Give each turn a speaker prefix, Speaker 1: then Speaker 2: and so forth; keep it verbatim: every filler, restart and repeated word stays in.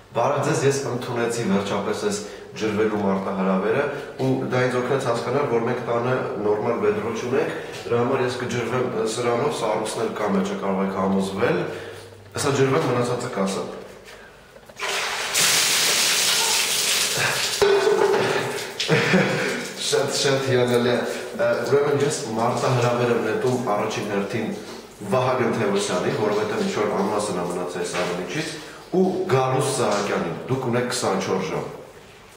Speaker 1: Բարև ձեզ, ես ընդունեցի վերջապես այս ջրվելու մարտահրավերը ու դա ինձ օգնեց հասկանալ, որ մենք տանը նորմալ վեդրո չունենք, դրա համար ես կջրվեմ սրանով, սառույցն էլ կա մեջը կարող եք համոզվել, ասա ջրվեմ մնացածը կասեմ։ Շատ շատ հիանալի է, ուրեմն ես մարտահրավեր եմ նետում առաջին հերթին Վահագն Թևոսյանին, որովհետև ինչ-որ անմասն է մնացել այս առնիչից, ու Գալուստ Սահակյանին, դուք ունեք քսանչորս ժամ։